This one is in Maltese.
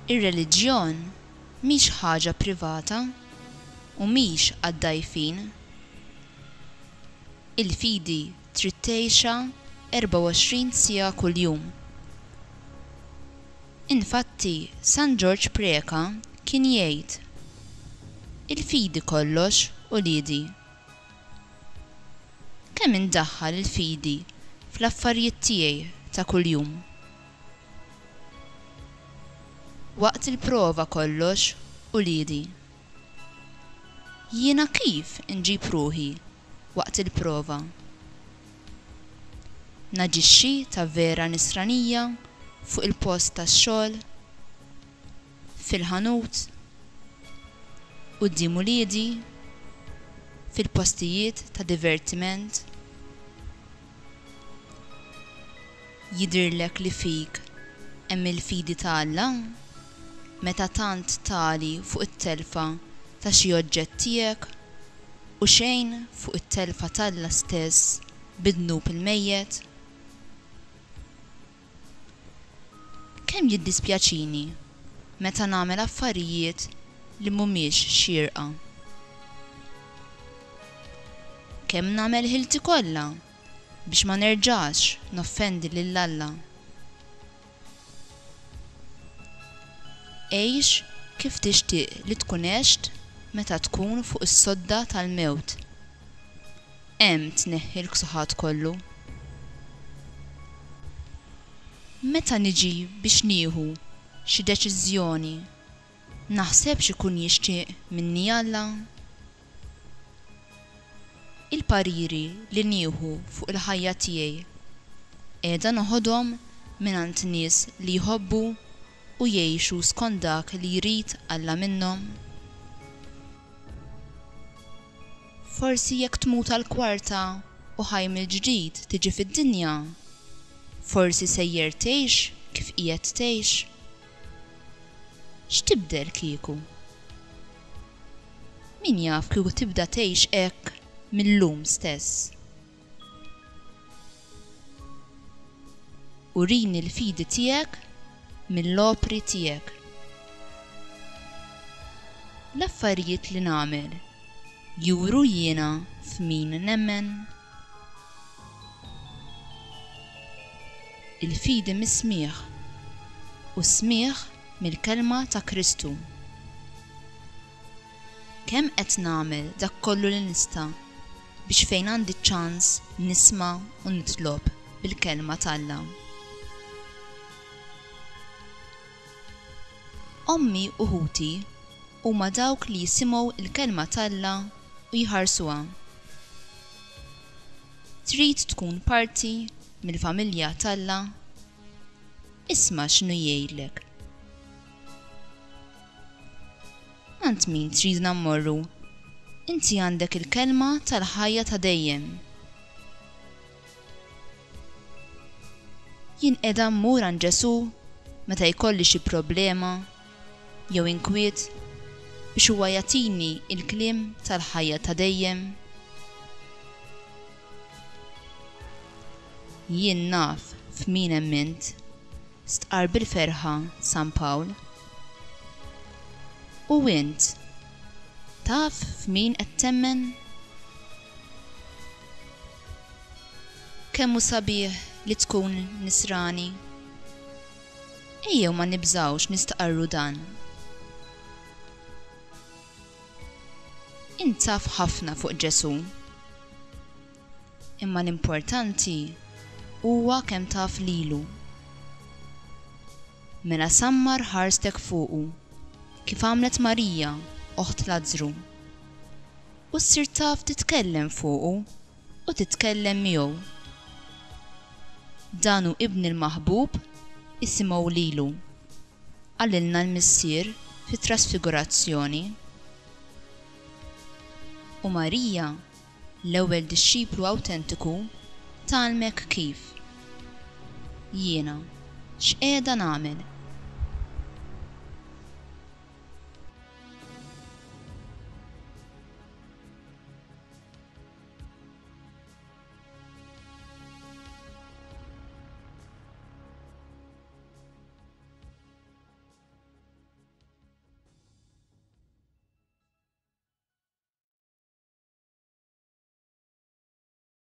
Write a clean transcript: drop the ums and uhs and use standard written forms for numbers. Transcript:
Ir-reliġjon mhix ħaġa privata u mhix għad-dgħajfin. Il-fidi trid tgħixha 24 siegħa kuljum. Infatti San Ġorġ Preca kien jgħid, Il-fidi kollox, uliedi. Kemm indaħħal il-fidi fl-affarijiet tiegħi ta' kuljum? Waqt il-prova kollox, uliedi. Jiena kif inġib ruħi waqt il-prova? Naġixxi ta' vera nisranija fuq il-post tax-xogħol? Fil-ħanut? Quddiem uliedi? Fil-postijiet ta' divertiment? Jidhirlek li fik hemm il-fidi ta' Alla meta tant tagħli fuq it-telfa ta' xi oġġett tiegħek u xejn fuq it-telfa t'Alla stess bid-dnub il-mejjet? Kemm jiddispjaċini meta nagħmel affarijiet li mhumiex xierqa. Kemm nagħmel ħilti kollha biex ma nerġax noffendi lil Alla. Għix kif tixtieq li tkun għext meta tkun fuq is-sodda tal-mewt. Hemm tneħħi l-ksuħat kollu. Meta niġi biex nieħu xi deċiżjoni, naħseb x'ikun jixtieq minni Alla? Il-pariri li nieħu fuq il-ħajja tiegħi qiegħda noħodhom mingħand nies li jħobbu u jgħixu skont dak li jrid Alla minnhom? Forsi jekk tmut għal kwarta u ħaj mill-ġdid tiġi fid-dinja, forsi sejjer tgħix kif qiegħed tgħix? X'tibdel kieku? Min jaf kieku tibda tgħix hekk mil-lum stess. Urini l-fidi tiegħek mill-opri tiegħek. L-affarijiet li nagħmel juru jiena f'min nemmen? Il-fidi mis-smigħ, u s-smigħ mill-kelma ta' Kristu. Kemm qed nagħmel dak kollu li nista' biex fejn għandi ċ-ċans nisma' u nitlob bil-kelma t'Alla? Ommi u ħuti huma dawk li jisimgħu l-kelma t'Alla u jħarsuha. Trid tkun parti mill-familja t'Alla? Isma' x'inhu jgħidlek. Għand min tridna mmorru? Inti għandek il-kelma tal-ħajja ta' dejjem. Jien qiegħda mmur għand Ġesù meta jkolli xi problema jew inkwiet biex huwa jagħtini l-kliem tal-ħajja ta' dejjem? Jien naf f'min emmint, stqarr bil-ferħa San Pawl. U int, taf f'min qed temmen? Kemm hu sabiħ li tkun Nisrani! Ejjew ma nibżgħux nistqarru dan. Int taf ħafna fuq Ġesù. Imma l-importanti huwa kemm taf lilu. Mela sammar ħarstek fuqu, kif għamlet Marija, oħt Lazzru. U ssir taf titkellem fuqu u titkellem miegħu. Dan hu Ibni l-maħbub, isimgħu lilu, qalilna l-Missier fit-Trasfigurazzjoni. U Marija, l-ewwel dixxiplu awtentiku, tgħallmek kif. Jiena, x'qiegħda nagħmel?